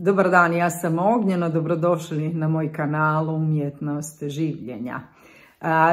Dobar dan, ja sam Ognjena, dobrodošli na moj kanal Umjetnost življenja.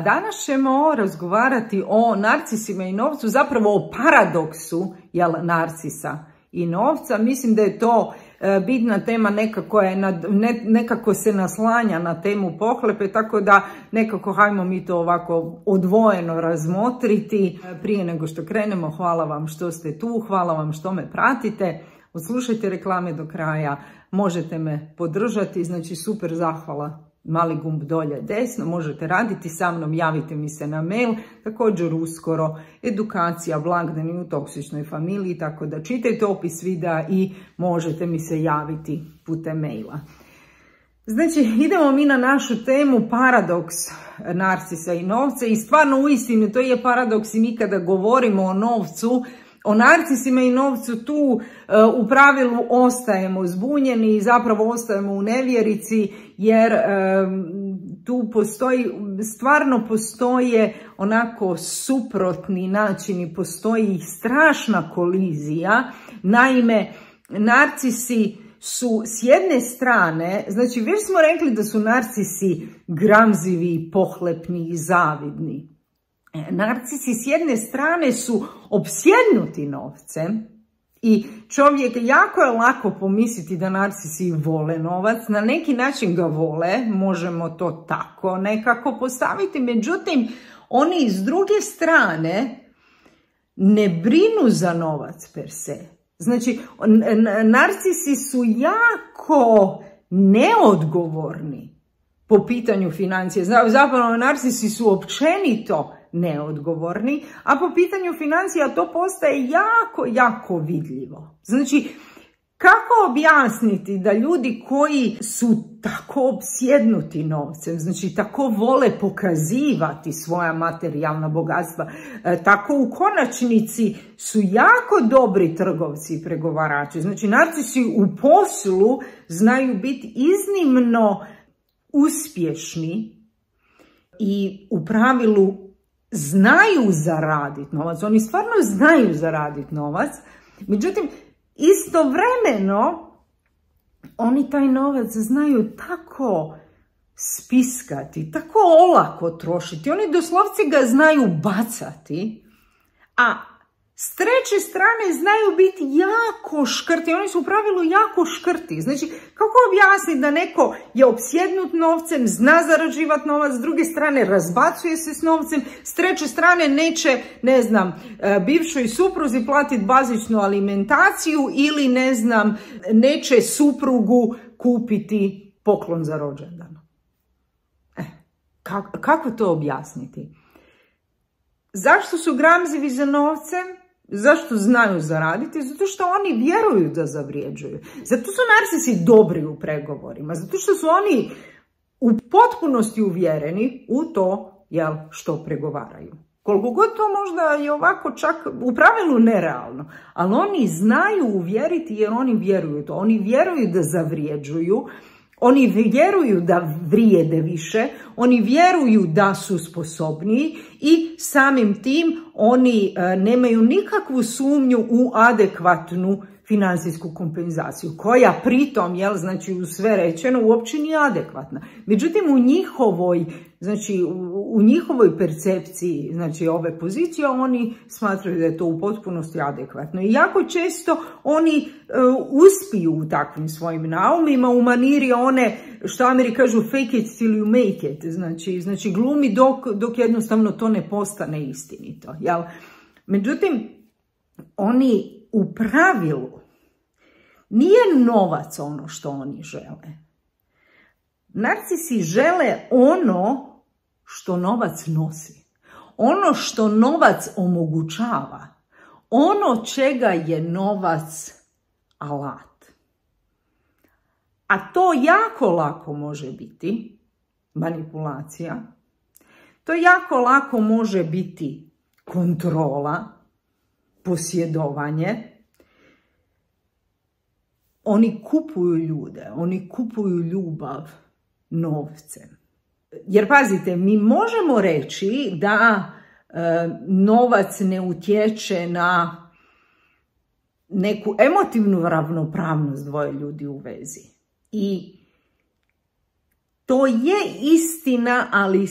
Danas ćemo razgovarati o narcisima i novcu, zapravo o paradoksu narcisa i novca. Mislim da je to bitna tema, nekako se naslanja na temu pohlepe, tako da nekako hajmo mi to ovako odvojeno razmotriti. Prije nego što krenemo, hvala vam što ste tu, hvala vam što me pratite. Odslušajte reklame do kraja, možete me podržati, znači super zahvala, mali gumb dolje desno, možete raditi sa mnom, javite mi se na mail, također uskoro edukacija blagdani u toksičnoj familiji, tako da čitajte opis videa i možete mi se javiti putem maila. Znači, idemo mi na našu temu paradoks narcisa i novca i stvarno uistinu to je paradoks i mi kada govorimo o novcu, o narcisima i novcu tu u pravilu ostajemo zbunjeni i zapravo ostajemo u nevjerici jer tu stvarno postoje onako suprotni načini, postoji strašna kolizija. Naime, narcisi su s jedne strane, znači već smo rekli da su narcisi gramzivi, pohlepni i zavidni. Narcisi s jedne strane su opsjednuti novcem i čovjek jako je lako pomisliti da narcisi vole novac, na neki način ga vole, možemo to tako nekako postaviti, međutim oni s druge strane ne brinu za novac per se. Znači, narcisi su jako neodgovorni po pitanju financije, zapravo narcisi su općenito neodgovorni, a po pitanju financija to postaje jako vidljivo. Znači, kako objasniti da ljudi koji su tako opsjednuti novcem, znači tako vole pokazivati svoja materijalna bogatstva, tako u konačnici su jako dobri trgovci i pregovarači. Znači, narcisi u poslu znaju biti iznimno uspješni i u pravilu znaju zaraditi novac, oni stvarno znaju zaraditi novac, međutim istovremeno oni taj novac znaju tako spiskati, tako olako trošiti, oni doslovce ga znaju bacati, a s treće strane znaju biti jako škrti, oni su u pravilu jako škrti. Znači, kako objasniti da neko je opsjednut novcem, zna zarađivati novac, s druge strane razbacuje se s novcem, s treće strane neće, ne znam, bivšoj supruzi platiti bazičnu alimentaciju ili, ne znam, neće suprugu kupiti poklon za rođendan. Kako to objasniti? Zašto su gramzivi za novcem? Zašto znaju zaraditi? Zato što oni vjeruju da zavrijeđuju. Zato su narcisi dobri u pregovorima. Zato što su oni u potpunosti uvjereni u to što pregovaraju. Koliko god to možda je ovako čak u pravilu nerealno. Ali oni znaju uvjeriti jer oni vjeruju to. Oni vjeruju da zavrijeđuju. Oni vjeruju da vrijede više, oni vjeruju da su sposobniji i samim tim oni nemaju nikakvu sumnju u adekvatnu financijsku kompenzaciju, koja pritom, znači u sve rečeno, uopće nije adekvatna. Međutim, u njihovoj percepciji, znači ove pozicije, oni smatraju da je to u potpunosti adekvatno. I jako često oni uspiju u takvim svojim naumima, u maniri one, što Ameri kažu, fake it till you make it, znači glumi dok jednostavno to ne postane istinito. Jel? Međutim, oni u pravilu nije novac ono što oni žele. Narcisi žele ono što novac nosi, ono što novac omogućava, ono čega je novac alat. A to jako lako može biti manipulacija, to jako lako može biti kontrola, posjedovanje. Oni kupuju ljude, oni kupuju ljubav novcem. Jer pazite, mi možemo reći da novac ne utječe na neku emotivnu ravnopravnost dvoje ljudi u vezi. I to je istina, ali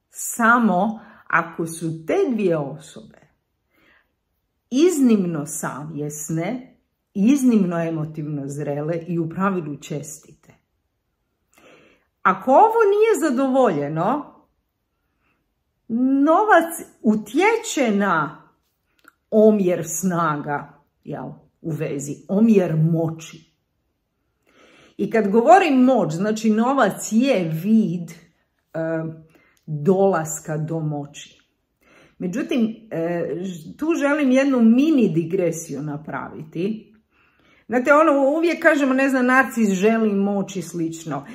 samo ako su te dvije osobe iznimno savjesne, iznimno emotivno zrele i u pravilu čestite. Ako ovo nije zadovoljeno, novac utječe na omjer snaga, u vezi, omjer moći. I kad govorim moć, znači novac je vid dolaska do moći. Međutim, tu želim jednu mini digresiju napraviti. Znate, uvijek kažemo, narcis želi moć i slično.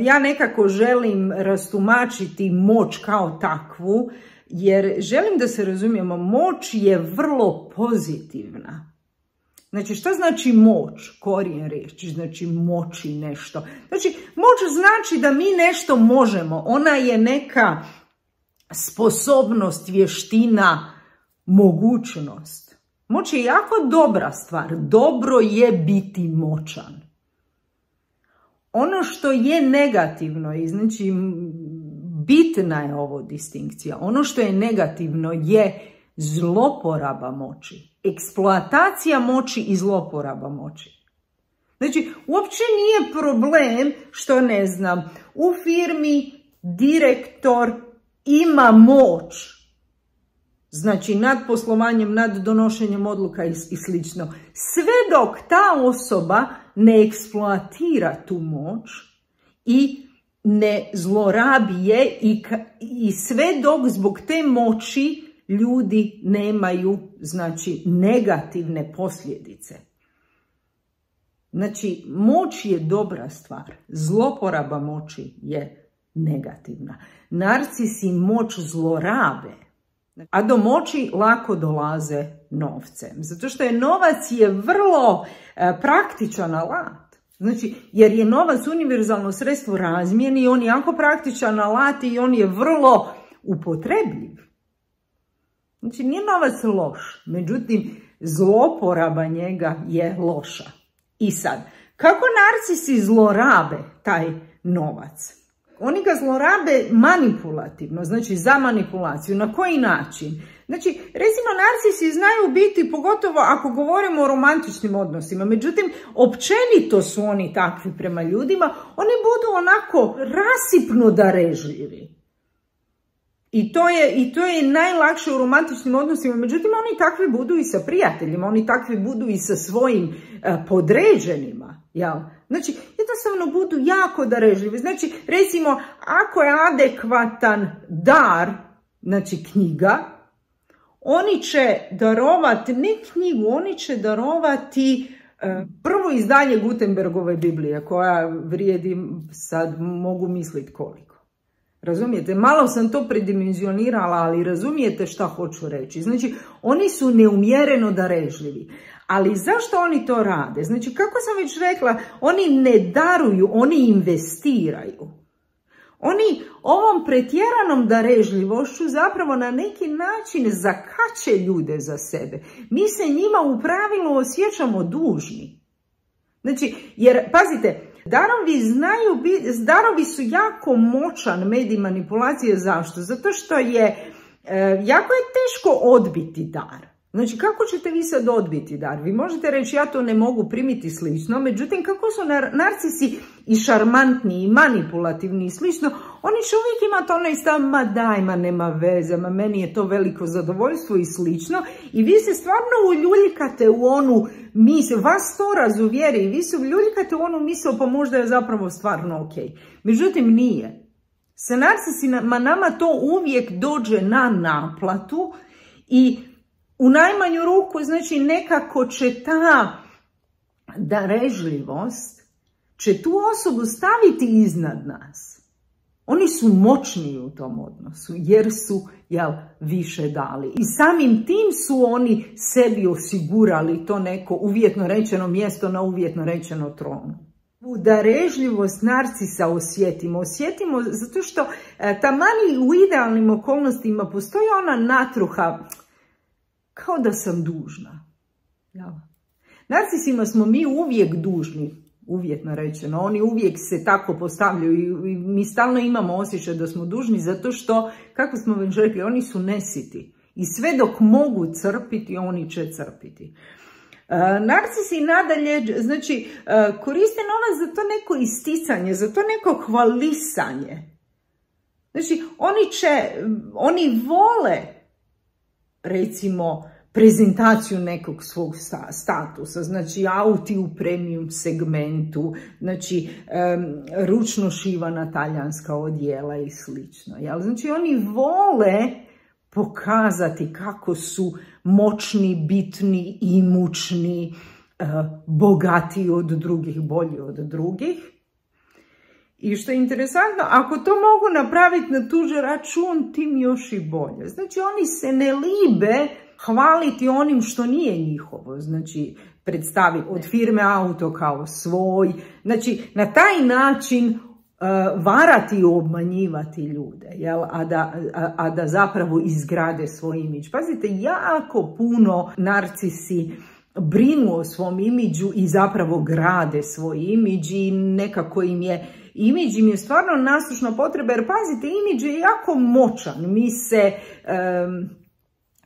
Ja nekako želim rastumačiti moć kao takvu, jer želim da se razumijemo, moć je vrlo pozitivna. Znači, što znači moć? Korijen riječi, znači moći nešto. Znači, moć znači da mi nešto možemo. Ona je neka sposobnost, vještina, mogućnost. Moć je jako dobra stvar. Dobro je biti moćan. Ono što je negativno, i znači bitna je ovo distinkcija, ono što je negativno je zloporaba moći. Eksploatacija moći i zloporaba moći. Znači, uopće nije problem što, u firmi direktor ima moć. Znači, nad poslovanjem, nad donošenjem odluka i slično. Sve dok ta osoba ne eksploatira tu moć i ne zlorabi je i sve dok zbog te moći ljudi nemaju, znači, negativne posljedice. Znači, moć je dobra stvar. Zloporaba moći je negativna. Narcisi moć zlorabe, a do moći lako dolaze novcem. Zato što novac je vrlo praktičan alat. Znači, jer je novac univerzalno sredstvo razmjeni i on je jako praktičan alat i on je vrlo upotrebljiv. Znači, nije novac loš, međutim, zloporaba njega je loša. I sad, kako narcisi zlorabe taj novac? Oni ga zlorabe manipulativno, znači za manipulaciju. Na koji način? Znači, recimo, narcisi znaju biti, pogotovo ako govorimo o romantičnim odnosima, međutim, općenito su oni takvi prema ljudima, oni budu onako rasipno darežljivi. I to je najlakše u romantičnim odnosima, međutim, oni takvi budu i sa prijateljima, oni takvi budu i sa svojim podređenima, jel? Znači, jednostavno budu jako darežljivi. Znači, recimo, ako je adekvatan dar, znači knjiga, oni će darovati, ne knjigu, oni će darovati prvo izdanje Gutenbergove Biblije, koja vrijedi, sad mogu misliti koliko. Razumijete? Malo sam to predimenzionirala, ali razumijete šta hoću reći. Znači, oni su neumjereno darežljivi. Ali zašto oni to rade? Znači, kako sam već rekla, oni ne daruju, oni investiraju. Oni ovom pretjeranom darežljivošću zapravo na neki način zakače ljude za sebe. Mi se njima u pravilu osjećamo dužni. Znači, jer, pazite, darovi su jako moćan medij manipulacije. Zašto? Zato što jako je teško odbiti dar. Znači, kako ćete vi sad odbiti dar? Vi možete reći, ja to ne mogu primiti slično, međutim, kako su narcisi i šarmantni i manipulativni i slično, oni će uvijek imati onaj stav, ma daj, ma nema veze, ma meni je to veliko zadovoljstvo i slično, i vi se stvarno uljuljkate u onu misao, vas to razuvjeri, i vi se uljuljkate u onu misao, pa možda je zapravo stvarno ok. Međutim, nije. Sa narcisima nama to uvijek dođe na naplatu i u najmanju ruku, znači, nekako će ta darežljivost, će tu osobu staviti iznad nas. Oni su moćniji u tom odnosu, jer su, više dali. I samim tim su oni sebi osigurali to neko uvjetno rečeno mjesto na uvjetno rečeno tronu. U darežljivost narcisa osjetimo zato što taman u idealnim okolnostima postoji ona natruha, kao da sam dužna. Narcisima smo mi uvijek dužni, uvjetno rečeno, oni uvijek se tako postavljaju i mi stalno imamo osjećaj da smo dužni zato što, kako smo već rekli, oni su nesiti i sve dok mogu crpiti, oni će crpiti. Narcisi nadalje, znači, koriste novac za to neko isticanje, za to neko hvalisanje. Znači, oni vole, recimo, prezentaciju nekog svog statusa, znači auti u premium segmentu, znači ručno šivana talijanska odjela i slično. Znači oni vole pokazati kako su moćni, bitni, imućni, bogatiji od drugih, bolji od drugih. I što je interesantno, ako to mogu napraviti na tuđi račun, tim još i bolje. Znači oni se ne libe hvaliti onim što nije njihovo, znači predstavi od firme auto kao svoj, znači na taj način varati i obmanjivati ljude, jel? A da zapravo izgrade svoj imidž. Pazite, jako puno narcisi brinu o svom imidžu i zapravo grade svoj imidž i nekako imidž im je stvarno nasušna potreba, jer pazite, imidž je jako moćan,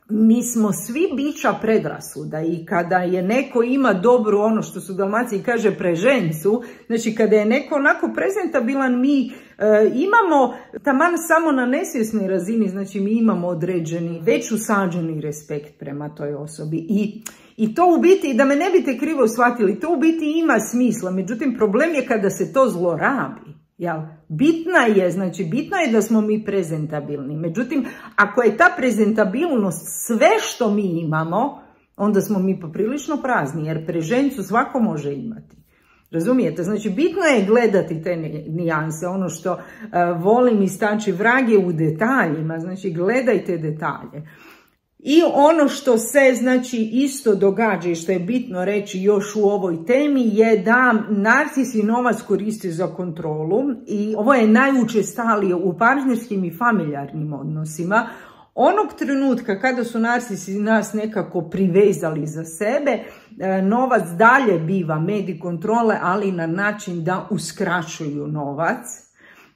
mi smo svi bića predrasuda i kada je neko ima dobru, ono što su Dalmaciji kaže prežencu, znači kada je neko onako prezentabilan, mi imamo taman samo na nesvjesnoj razini, znači mi imamo određeni, već usađeni respekt prema toj osobi i to u biti, da me ne biste krivo shvatili, to u biti ima smisla, međutim problem je kada se to zlorabi. Bitno je da smo mi prezentabilni. Međutim, ako je ta prezentabilnost sve što mi imamo, onda smo mi poprilično prazni, jer prežencu svako može imati. Razumijete? Znači, bitno je gledati te nijanse. Ono što volim istaći, vrag je u detaljima. Znači, gledajte detalje. I ono što se, znači, isto događa i što je bitno reći još u ovoj temi je da narcisi novac koriste za kontrolu i ovo je najučestalije u partnerskim i familijarnim odnosima. Onog trenutka kada su narcisi nas nekako privezali za sebe, novac dalje biva medij kontrole, ali na način da uskraćuju novac.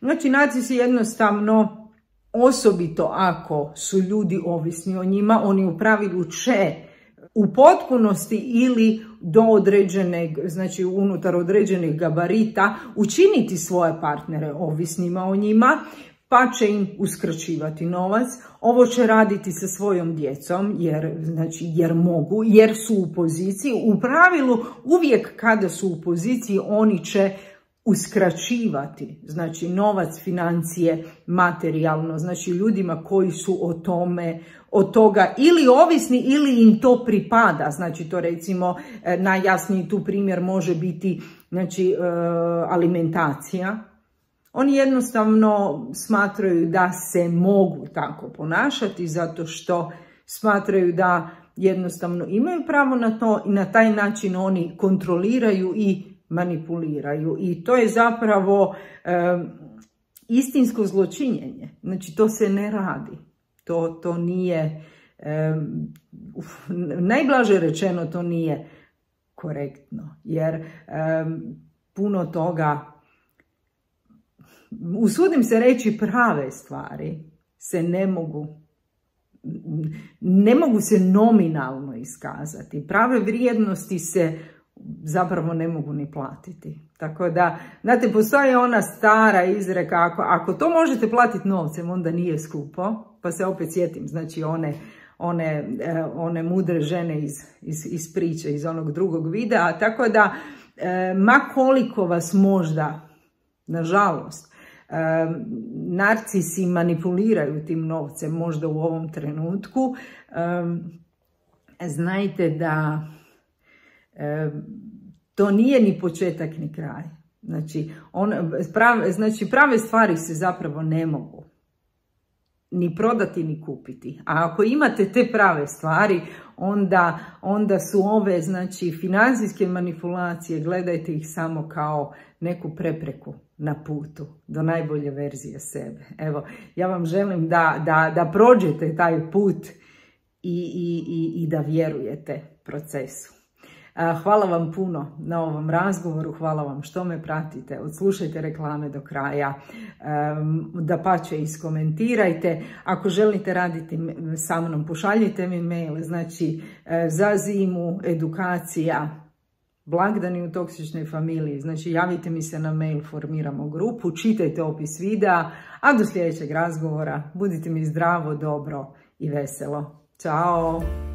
Znači, narcisi jednostavno, osobito ako su ljudi ovisni o njima, oni u pravilu će u potpunosti ili do određenog, znači unutar određenih gabarita, učiniti svoje partnere ovisnima o njima, pa će im uskraćivati novac. Ovo će raditi sa svojom djecom, jer mogu, jer su u poziciji. U pravilu, uvijek kada su u poziciji, oni će uskraćivati, znači novac, financije, materijalno, znači ljudima koji su od toga ili ovisni ili im to pripada. Znači to recimo najjasniji tu primjer može biti, znači alimentacija. Oni jednostavno smatraju da se mogu tako ponašati zato što smatraju da jednostavno imaju pravo na to i na taj način oni kontroliraju i manipuliraju. I to je zapravo istinsko zločinjenje. Znači to se ne radi. To nije, najblaže rečeno, to nije korektno. Jer puno toga, usudim se reći, prave stvari se ne mogu se nominalno iskazati. Prave vrijednosti se zapravo ne mogu ni platiti. Tako da, znate, postoji ona stara izreka, ako to možete platiti novcem, onda nije skupo. Pa se opet sjetim, znači one mudre žene iz priče, iz onog drugog videa. Tako da, ma koliko vas možda, nažalost, narcisi manipuliraju tim novcem možda u ovom trenutku, znajte da to nije ni početak ni kraj. Znači, prave stvari se zapravo ne mogu ni prodati ni kupiti. A ako imate te prave stvari, onda su ove, znači, financijske manipulacije, gledajte ih samo kao neku prepreku na putu do najbolje verzije sebe. Evo, ja vam želim da prođete taj put i da vjerujete procesu. Hvala vam puno na ovom razgovoru, hvala vam što me pratite, odslušajte reklame do kraja, dapače iskomentirajte. Ako želite raditi sa mnom, pošaljite mi mail, znači za zimu, edukacija, blagdani u toksičnoj familiji, znači javite mi se na mail, formiramo grupu, čitajte opis videa, a do sljedećeg razgovora budite mi zdravo, dobro i veselo. Ćao!